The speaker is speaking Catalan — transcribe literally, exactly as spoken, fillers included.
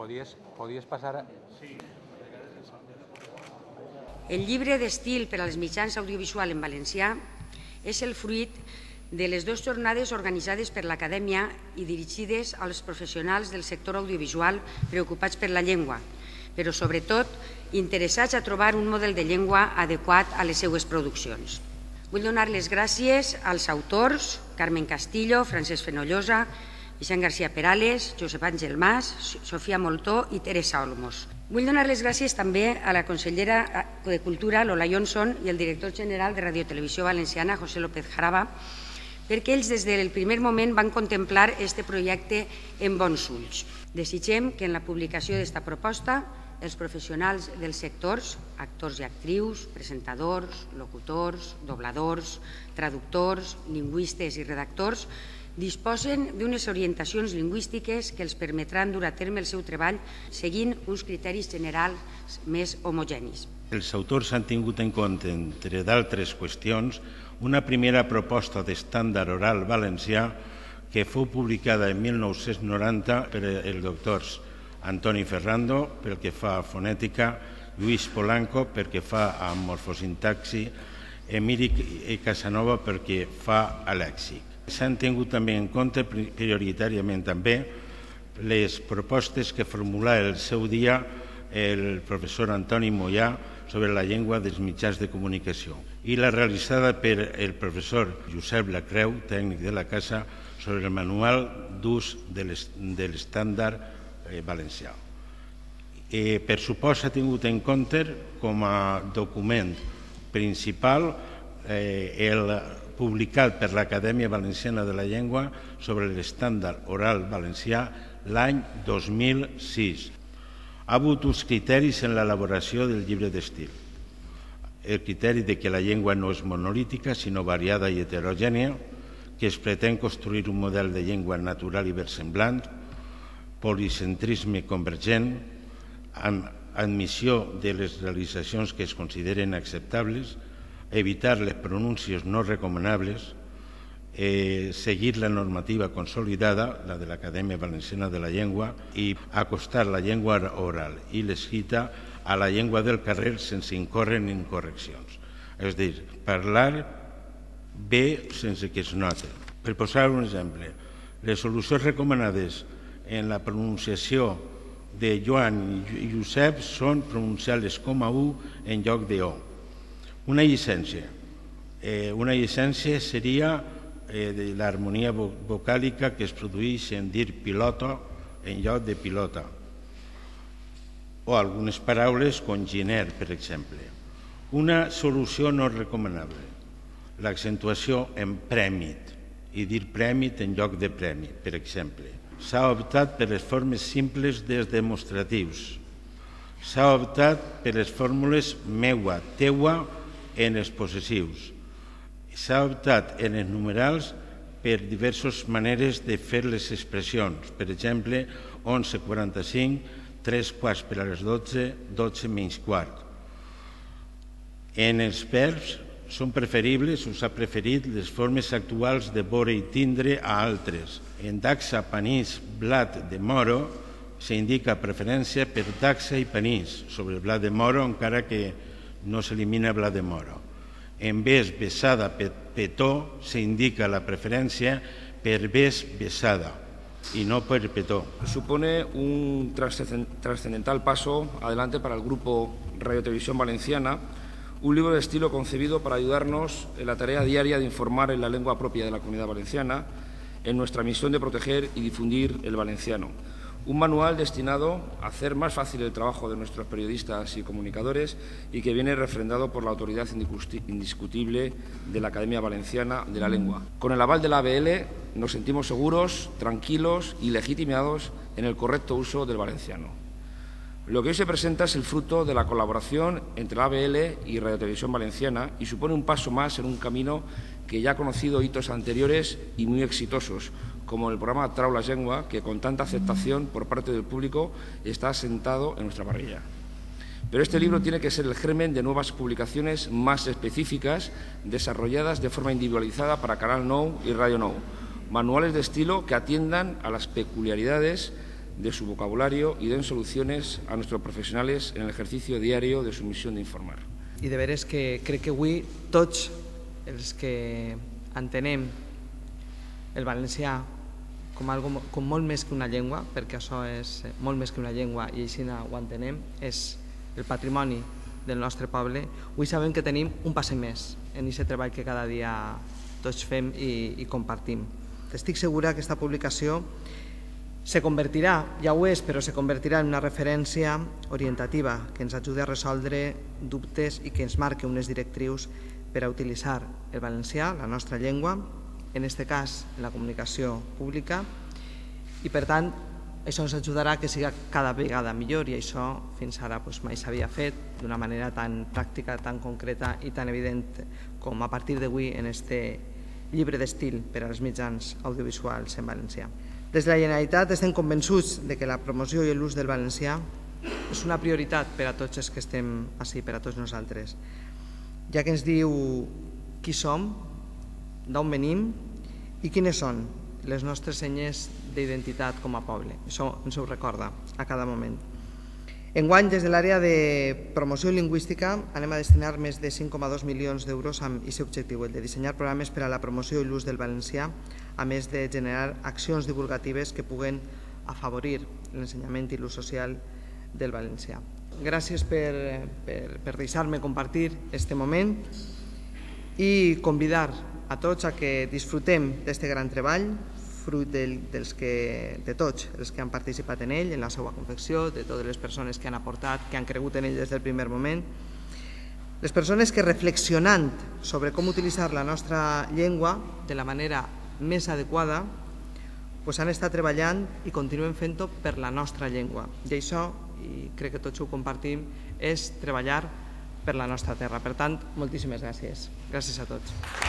Podies, podies passar... A... El llibre d'estil per als mitjans audiovisuals en valencià és el fruit de les dues jornades organitzades per l'Acadèmia i dirigides als professionals del sector audiovisual preocupats per la llengua, però sobretot interessats a trobar un model de llengua adequat a les seues produccions. Vull donar les gràcies als autors Carmen Castillo, Francesc Fenollosa, Vicent García Perales, Josep Àngel Mas, Sofia Moltó i Teresa Olmos. Vull donar les gràcies també a la consellera de Cultura, Lola Johnson, i el director general de Radio Televisió Valenciana, José López Jaraba, perquè ells des del primer moment van contemplar aquest projecte en bons ulls. Desitgem que en la publicació d'esta proposta els professionals dels sectors, actors i actrius, presentadors, locutors, dobladors, traductors, lingüistes i redactors, disposen d'unes orientacions lingüístiques que els permetran dur a terme el seu treball seguint uns criteris generals més homogenis. Els autors han tingut en compte, entre d'altres qüestions, una primera proposta d'estàndard oral valencià que fou publicada en mil nou-cents noranta per els doctors Antoni Ferrando, pel que fa a fonètica, Lluís Polanco, pel que fa a morfosintaxi, Emili Casanova, pel que fa a lèxic. S'han tingut també en compte prioritàriament també les propostes que formulà el seu dia el professor Antoni Moyà sobre la llengua dels mitjans de comunicació i la realitzada per el professor Josep Lacreu, tècnic de la Casa, sobre el manual d'ús de l'estàndard valencià. Per supost s'ha tingut en compte com a document principal el publicat per l'Acadèmia Valenciana de la Llengua sobre l'estàndard oral valencià l'any dos mil sis. Ha hagut uns criteris en l'elaboració del llibre d'estil. El criteri de que la llengua no és monolítica, sinó variada i heterogènia, que es pretén construir un model de llengua natural i versemblant, policentrisme convergent, amb admissió de les realitzacions que es consideren acceptables, evitar les pronúncies no recomanables, eh, seguir la normativa consolidada, la de l'Acadèmia Valenciana de la Llengua, i acostar la llengua oral i l'escrita a la llengua del carrer sense incórrer en incorreccions. És a dir, parlar bé sense que es note. Per posar un exemple, les solucions recomanades en la pronunciació de Joan i Josep són pronunciar-les com a U en lloc de O. Una llicència. Eh, una llicència seria eh, de l'harmonia vocàlica que es produeix en dir pilota en lloc de pilota. O algunes paraules com giner, per exemple. Una solució no recomanable. L'accentuació en prèmit i dir prèmit en lloc de premi, per exemple. S'ha optat per les formes simples dels demostratius. S'ha optat per les fórmules meua, teua, en els possessius. S'ha optat en els numerals per diverses maneres de fer les expressions. Per exemple, onze quaranta-cinc, tres quarts per a les dotze, dotze menys quart. En els verbs són preferibles, us ha preferit les formes actuals de vore i tindre a altres. En daxa, panís, blat de moro, s'indica preferència per daxa i panís sobre el blat de moro, encara que no s'elimina blat de moro. En ves, besada, petó, s'indica la preferència per ves, besada, y no por el petó. Supone un trascendental paso adelante para el grupo Radio Televisión Valenciana, un libro de estilo concebido para ayudarnos en la tarea diaria de informar en la lengua propia de la Comunidad Valenciana, en nuestra misión de proteger y difundir el valenciano. Un manual destinado a hacer más fácil el trabajo de nuestros periodistas y comunicadores y que viene refrendado por la autoridad indiscutible de la Academia Valenciana de la Lengua. Con el aval de la A B L nos sentimos seguros, tranquilos y legitimados en el correcto uso del valenciano. Lo que hoy se presenta es el fruto de la colaboración entre la A B L y Radio Televisión Valenciana y supone un paso más en un camino que ya ha conocido hitos anteriores y muy exitosos, como el programa Trau la Llengua, que con tanta aceptación por parte del público está asentado en nuestra parrilla. Pero este libro tiene que ser el germen de nuevas publicaciones más específicas, desarrolladas de forma individualizada para Canal Nou y Radio Nou. Manuales de estilo que atiendan a las peculiaridades de su vocabulario y den soluciones a nuestros profesionales en el ejercicio diario de su misión de informar. I de veres que crec que avui tots els que entenem el valencià com, algo, com molt més que una llengua, perquè això és molt més que una llengua i així ho entenem, és el patrimoni del nostre poble, avui sabem que tenim un passet més en aquest treball que cada dia tots fem i, i compartim. Estic segura que aquesta publicació se convertirà, ja ho és, però se convertirà en una referència orientativa que ens ajudi a resoldre dubtes i que ens marqui unes directrius per a utilitzar el valencià, la nostra llengua, en aquest cas en la comunicació pública, i per tant això ens ajudarà que siga cada vegada millor i això fins ara mai s'havia fet d'una manera tan pràctica, tan concreta i tan evident com a partir d'avui en aquest llibre d'estil per als mitjans audiovisuals en valencià. Des de la Generalitat estem convençuts que la promoció i l'ús del valencià és una prioritat per a tots els que estem ací, per a tots nosaltres, ja que ens diu qui som, d'on venim i quines són les nostres senyes d'identitat com a poble. Això ens ho recorda a cada moment. Enguany, des de l'àrea de promoció lingüística, anem a destinar més de cinc coma dos milions d'euros amb aquest objectiu, el de dissenyar programes per a la promoció i l'ús del valencià, a més de generar accions divulgatives que puguen afavorir l'ensenyament i l'ús social del valencià. Gràcies per, per, per deixar-me compartir aquest moment i convidar a tots a que disfrutem d'aquest gran treball, fruit dels que, de tots els que han participat en ell, en la seva confecció, de totes les persones que han aportat, que han cregut en ell des del primer moment, les persones que reflexionant sobre com utilitzar la nostra llengua de la manera més adequada pues han estat treballant i continuem fent-ho per la nostra llengua. I això, i crec que tots ho compartim, és treballar per la nostra terra. Per tant, moltíssimes gràcies. Gràcies a tots.